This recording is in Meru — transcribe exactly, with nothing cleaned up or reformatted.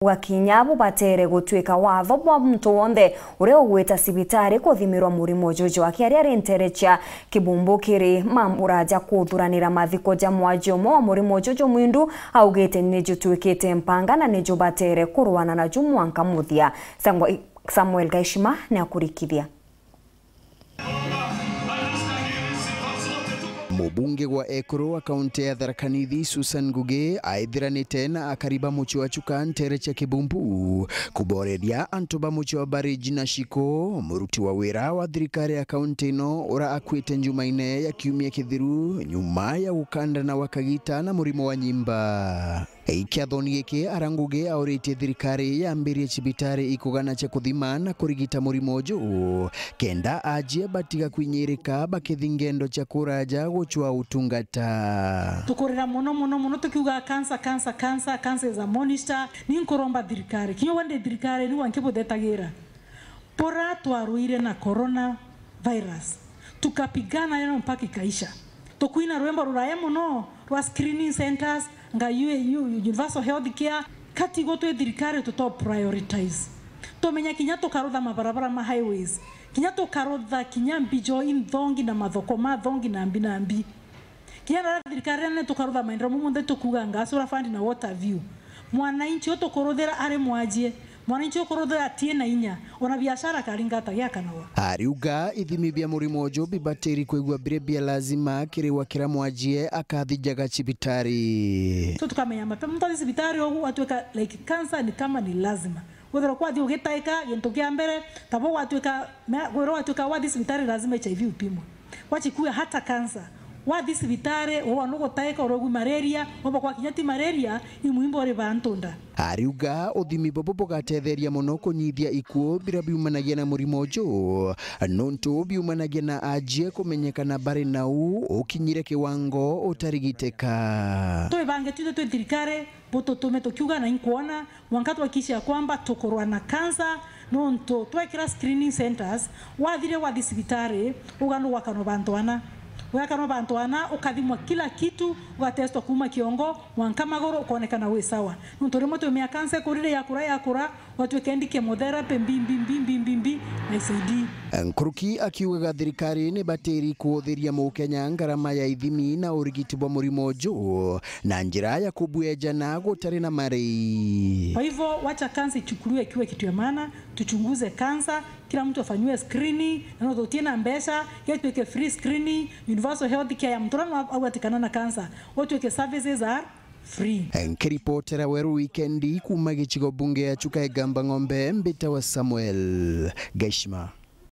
Gwa kinya bubatere gutwika watho bwa muntu wonthe uria ugwita cibitari kuthimirwa murimo juju. Akiaria ari ntere cia Kibumbu kiri mambura ja kuthuranira mathiko ja mwaji umwe wa murimo juju, Mwindu augite ni jutwikite mpanga na ni jubatere kurwana naju mwanka muthia. Sangwa-, Samuel Gaishima ni akurikithia. Mubunge wa ekuru wa kaunti ya Tharaka Nithi, Susan Ngugi, aithiranite na akari ba mucii wa Chuka ntere cia Kibumbu, kuboreria antu ba mucii wa Bariji na Shiko, muruti wa wira wa thirikari ya kaunti ino, ura akuite Njumaine ya kiumia kithiru, nyuma ya gukandana gwa kagita na murimo wa nyimba. Kiathoni giki, ara Ngugi auritie thirikari yambirie cibitari ikugana cia kuthima na kurigita murimo uju, kenda ajie batiga kwinyirika bakithi ngendo cia kuraja gucwa utungata. Tukurira mono, mono, mono, tukiuga, "Cancer, cancer, cancer, cancer is a monster." Ni nkuromba thirikari, kinya we ndi thirikari, ni wa nkibutetagira. Bura twarwire na corona virus, tukapigana nayo mpaka ikaisha. Tukwina rwimbo ruraya mono rwa screening centers, nga U A U, universal health care, katigo twi thirikari tuto prioritize. Tumenya kinya tukarutha mabarabara ma highways, kinya tukarutha kinya mbijo inthongi na mathoko ma thongi na mbi na mbi. Kinya na thirikari nene tukarutha maendeleo mau monthe tukuuga, ngasura fund na water view. Mwananchi utukuruthira ari mwajie, mwananchi ukuruthira atie na inya, ona biashara karinga ata giakanawa. Ariuga ithimi bia murimo uju bibatiri kwigua biri bia lazima kiri wa kira mwajie akathijaga cibitari. So tukamenya mapema, muntu athi cibitari ugu atuika like cancer ni kama ni lazima. Kwithirwa kwathi ugitaika, gintu kia mbere, tabo gwatuika, me-, kwithirwa gwatuika wathi cibitari lazima H I V upimwe. Gwachikua hata cancer. Wathi cibitari, uwa nugutaika, urogwi malaria, womba kwa kinya ti malaria, imuimba uri bantu nda. Ariuga uthimi bubu bugatetheria mono kunyithia ikuo biria biumanagia na murimo uju, nontu biumanagia na ajie kumenyekana bari nau ukinyire kiwango utarigiteka. Twibange twithe twi thirikari, bututume tukiuga na inkwona, mwanka twakisha kwamba tukurwa na cancer, nontu twekira screening centers, wathire wathi cibitari, uga nugwakanwa bantu ana. Ugakanwa bantu ana, ukathimwa kila kitu, ugatestwa kuuma kiongo, mwanka maguru, ukonekana wi sawa. Nontu rimwe twimea cancer ikurire yakura, yakura, watwika indi chemotherapy, mbi, mbi, mbi, mbi, mbi, mbi, na isaidi. Nkuruki akiugaga thirikari ni batiri kuuthiria Mukenya ngarama ya ithimi na urigiti bwa murimo uju, na njira ya kubwejana gutari na marei. Kwa hivyo, wacha kansa ichukuliwe ikiwa kitu ya maana, tuchunguze kansa, kila mtu afanyiwe screening, na no tutie na mbeca, getwike free screening, universal health care ya mtu uria no agwatikana na kansa, gutwike services are free. Nkiripotera Weru Wikendi kuuma gicigo bunge ya Chuka Igamba Ng'ombe, mbitawa Samuel Gaishima.